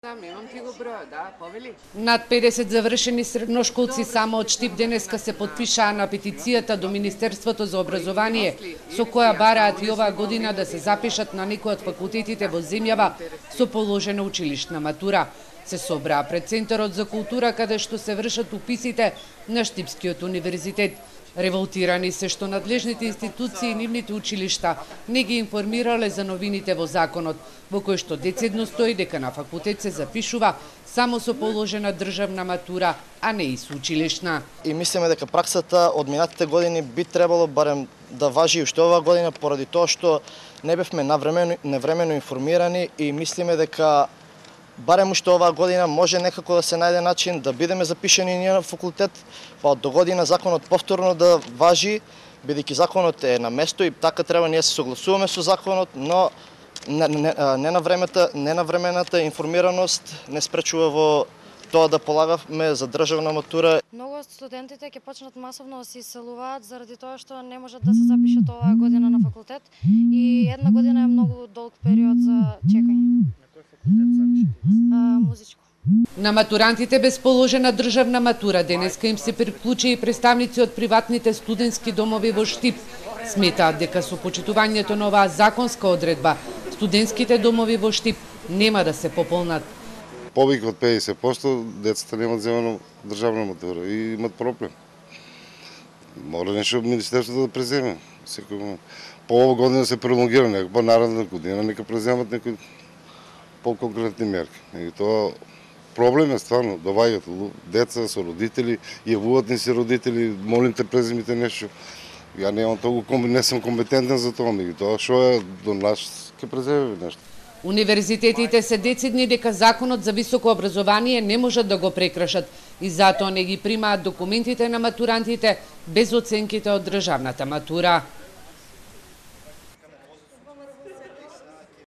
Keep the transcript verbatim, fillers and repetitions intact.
Имам ти го број, да, повели. Над педесет завршени средношколци само од Штип денеска се потпишаа на петицијата до Министерството за образование, со која бараат и оваа година да се запишат на некои од факултетите во земјава со положена училишна матура. Се собраа пред Центарот за култура, каде што се вршат уписите на Штипскиот универзитет. Револтирани се што надлежните институции и нивните училишта не ги информирале за новините во законот, во кој што децидно стои дека на факултет се запишува само со положена државна матура, а не и со училишна. И мислиме дека праксата од минатите години би требало барем да важи уште оваа година, поради тоа што не бевме навремено, невремено информирани и мислиме дека барем уште оваа година може некако да се најде начин да бидеме запишани ние на факултет, па од до година законот повторно да важи, бидејќи законот е на место и така треба ние се согласуваме со законот, но не, не, не на времето, не на времената информираност не спречува во тоа да полагаме за државна матура. Многу од студентите ќе почнат масовно да се иселуваат заради тоа што не можат да се запишат оваа година на факултет и една година е многу долг период за чекање. На кој факултет сакаш? Музичко. На матурантите без положена државна матура денеска им се приклучи и представници од приватните студентски домови во Штип. Сметаат дека со почитувањето на оваа законска одредба, студентските домови во Штип нема да се пополнат. Повеќе од педесет проценти децата немаат земено државна матура и имат проблем. Мора нешто Министерството да преземе. Секој момент. По ова година се пролонгира, нека по наредна година нека преземат некои по-конкретни мерки. И тоа проблем е стварно, доваѓаат деца со родители, јавуваат ни се родители, молим те преземите нешто. Ја немам толку, не сум компетентен за тоа, меѓутоа што е до нас ќе преземеме нешто. Универзитетите се децидни дека законот за високо образование не можат да го прекршат и затоа не ги примаат документите на матурантите без оценките од државната матура.